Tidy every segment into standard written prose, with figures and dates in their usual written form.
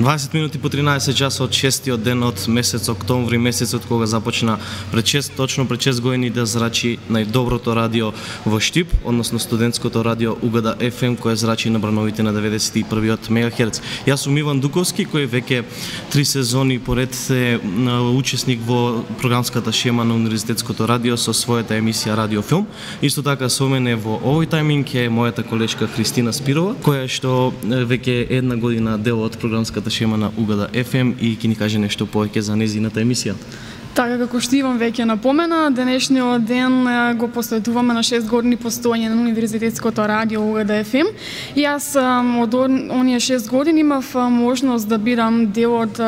20 минути по 13 часот, 6-тиот ден од месец октомври, месецот кога започна точно пред 6 години да зрачи најдоброто радио во Штип, односно студентското радио УГД FM, кое зрачи на брановите на 91 мегахерц. Јас сум Иван Дуковски, кој веќе 3 сезони поред е учесник во програмската шема на Универзитетското радио со својата емисија Радио Филм. Исто така со мене во овој тајминг е мојата колешка Христина Спирова, која што веќе една година дел од програмската шема на УГД FM и ќе ни каже нешто повеќе за незината емисија. Така како што Иван веќе напомена, денешниот ден го посветуваме на 6 години постоење на Универзитетското радио УГД FM. И јас од оние 6 години имав можност да бидам дел од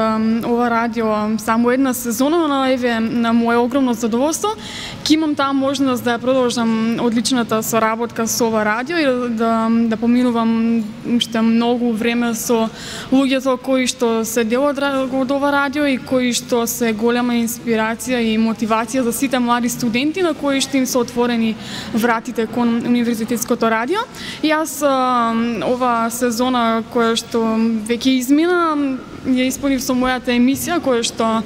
ова радио само една сезона, но еве на моје огромно задоволство ќе имам таа можност да ја продолжам одличната соработка со ова радио и да поминувам уште многу време со луѓето кои што се дел од ова радио и кои што се голема инспирација и мотивација за сите млади студенти на кои што им се отворени вратите кон Универзитетското радио. Јас ова сезона која што веќе измина ја исполнив со мојата емисија која што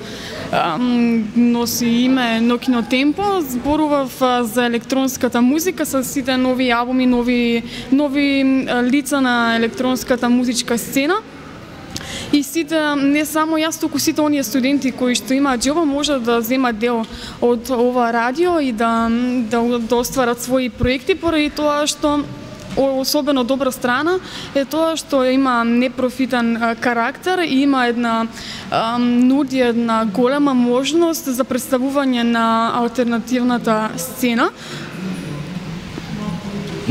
носи име Нокино Темпо. Зборував за електронската музика со сите нови албуми, нови лица на електронската музичка сцена. И сите, не само јас, туку сите оние студенти кои што имаат џелба можат да земат дел од ова радио и да остварат своји проекти, поради тоа што особено добра страна е тоа што има непрофитен карактер и има нуди една голема можност за представување на алтернативната сцена.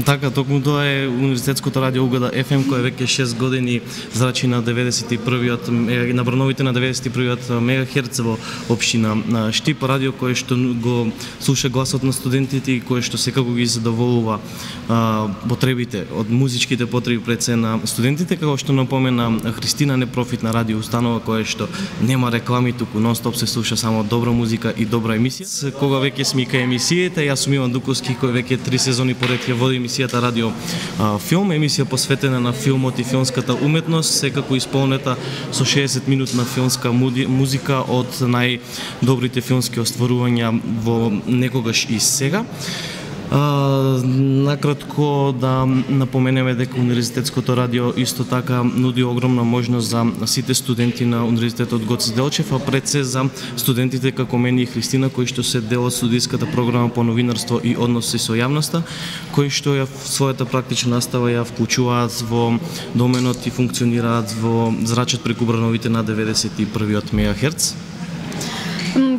Така, токму тоа е Универзитетското радио УГД FM, кој веќе 6 години зрачи на 91-иот на брановите на 91-иот мегахерц во општина Штип, радио кој што го слуша гласот на студентите и кој што секако ги задоволува потребите од музичките потреби пред се на студентите, како што напомена Христина, непрофитна радио установа која што нема реклами, туку нон-стоп се слуша само добра музика и добра емисија. Кога веќе смика емисиите, јас сум Иван Дуковски, кој веќе 3 сезони поред ја води емисијата Радио Филм, емисија посветена на филмот и филмската уметност, секако исполнета со 60 минутна филмска музика од најдобрите филмски остварувања во некогаш и сега. Накратко да напоменеме дека Универзитетското радио исто така нуди огромна можност за сите студенти на Универзитетот Гоце Делчев, а пред се за студентите како мене и Христина, кои што се дел од студиската програма по новинарство и односи со јавноста, кои што ја својата практична настава ја вклучуваат во доменот и функционираат во зрачат преку брановите на 91-иот мегахерц.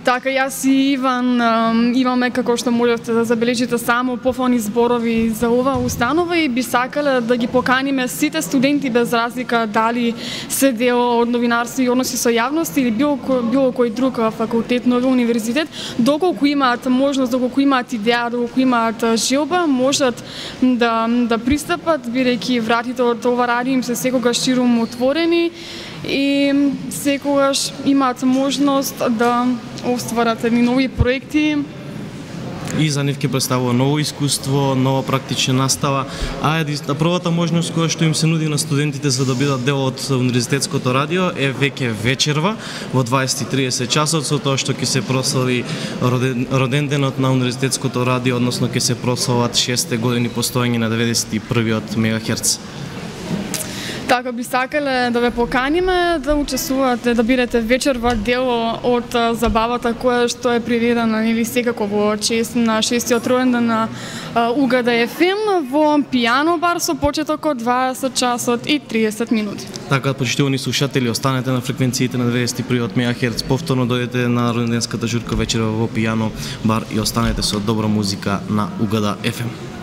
Така, јас и Иван имаме, како што можете да забележите, само пофални зборови за ова установа и би сакале да ги поканиме сите студенти без разлика дали се дел од новинарство и односи со јавност или било кој друг факултет, нови универзитет, доколку имаат можност, доколку имаат идеја, доколку имаат желба, можат да пристапат, бидејќи вратите од ова радио им се секогаш ширум отворени и секогаш имаат можност да остварат едни нови проекти. И за нив ќе представува ново искуство, нова практична настава, а првата можност која што им се нуди на студентите за да бидат дел од Универзитетското радио е веќе вечерва во 20:30 часот, со тоа што ќе се прослави роден денот на Универзитетското радио, односно ќе се прослават 6 години постоење на 91-иот мегахерц. Така, би сакале да ве поканиме да учествувате, да бидете вечерва дел од забавата која што е приредена или секако во чест на 6-тиот роден ден на УГД FM во пијано бар со почеток од 20 часот и 30 минути. Така, почитувани слушатели, останете на фреквенциите на 91 мегахерц, повторно дојдете на роденденската журка вечерва во пијано бар и останете со добра музика на УГД FM.